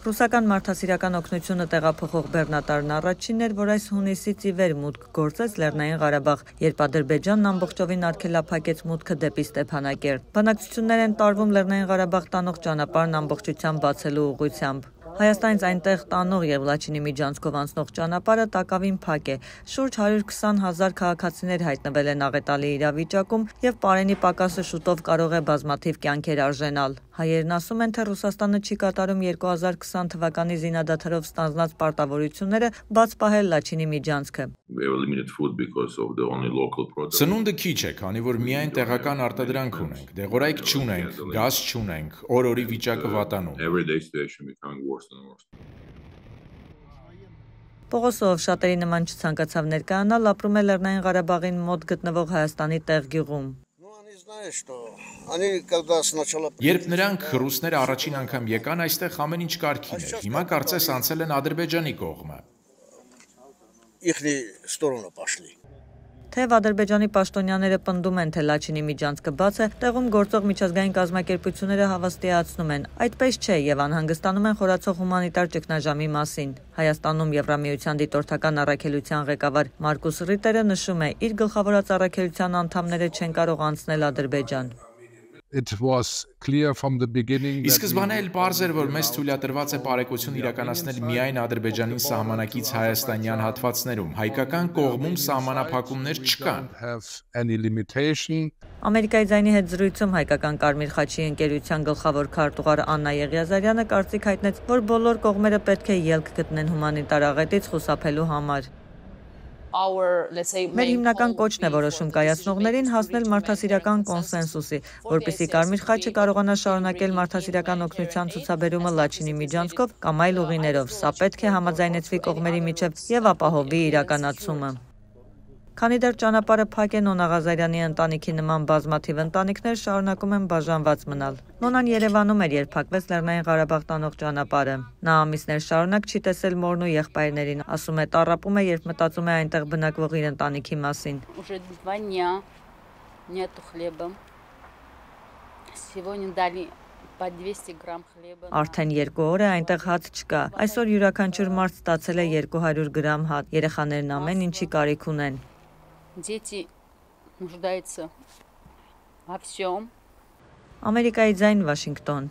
Ռուսական մարդասիրական օգնությունը տեղափոխող բեռնատարն առաջինն էր, որ այս հունիսից ի վեր մուտք գործեց Լեռնային Ղարաբաղ, երբ Ադրբեջանն ամբողջովին արգելափակեց մուտքը դեպի Ստեփանակերտ։ Բանակցություններ են տարվում Լեռնային Ղարաբաղ տանող ճանապարհն ամբողջությամբ բացելու ուղղությամբ։ Հայաստանից այնտեղ տանող եւ Լաչինի միջանցքով անցնող ճանապարհը տակավին փակ է։ Շուրջ 120,000 քաղաքացիներ հայտնվել են աղետալի իրավիճակում եւ պարենի պակասը շուտով կարող է բազմաթիվ կյանքեր արժենալ։ Հայերն ասում են, թե Ռուսաստանը չի կատարում 2020 թվականի զինադադարով ստանձնած պարտավորությունները բաց պահել Լաչինի միջանցքը։ Սնունդը քիչ է, քանի որ միայն տեղական արտադրանք ունենք, դեղորայք չունենք, գազ չունենք, օր-օրի վիճակը վատանում։ Պողոսով շատերի նման չցանկացավ ներկայանալ, ապրում է Լեռնային Ղարաբաղին մոտ գտնվող Հայաստանի տեղ գյուղում։ Երբ նրանք ռուսները առաջին անգամ եկան, այստեղ ամեն ինչ կարգին էր, հիմա կարծես անցել են Ադրբեջանի կողմը։ Թեև Ադրբեջանի պաշտոնյաները պնդում են, թե Լաչինի միջանցքը բաց է, տեղում գործող միջազգային կազմակերպությունները հավաստիացնում են, այդպես չէ եւ անհանգստանում են խորացող հումանիտար ճգնաժամի մասին։ Հայաստանում Եվրամիության դիտորդական առաքելության ղեկավար Մարկուս Ռիտերը նշում է, իր գլխավորած առաքելության անդամները չեն կարող անցնել Ադրբեջան։ Ի սկզբանե էլ պարզ էր, որ մեզ թույլատրված է բարեկություն իրականացնել միայն Ադրբեջանի սահմանակից հայաստանյան հատվածներում, հայկական կողմում սահմանափակումներ չկան։ Ամերիկայի ձայնի հետ զրույցում հայկական Կարմիր խաչի ընկերության գլխավոր քարտուղար Աննա Եղիազարյանը կարծիք հայտնեց, որ բոլոր կողմերը պետք է ելք գտնեն հումանիտար աղետից խուսափելու համար։ Մեր հիմնական կոչն է որոշում կայացնողներին հասնել մարդասիրական կոնսենսուսի, որպեսզի Կարմիր խաչը կարողանա շարունակել մարդասիրական օգնության ցուցաբերումը Լաչինի միջանցքով կամ այլ ուղիներով։ Սա պետք է համաձայնեցվի կողմերի միջև եւ ապահովի իրականացումը։ Քանի դեռ ճանապարհը փակ է, Նոնա Ղազարյանի ընտանիքի նման բազմաթիվ ընտանիքներ շարունակում են բաժանված մնալ։ Նոնան Երևանում էր, երբ փակվեց Լեռնային Ղարաբաղ տանող ճանապարհը։ Նա ամիսներ շարունակ չի տեսել մորն ու եղբայրներին, ասում է, տառապում է, երբ մտածում է այնտեղ բնակվող իր ընտանիքի մասին։ Արդեն 2 օր է այնտեղ հաց չկա։ Այսօր յուրաքանչյուր մարդ ստացել է 200 գրամ հաց։ Երեխաներն ամեն ինչի կարիք ունեն։ Дети нуждаются во всем. Ամերիկայի ձայն, Վաշինգտոն։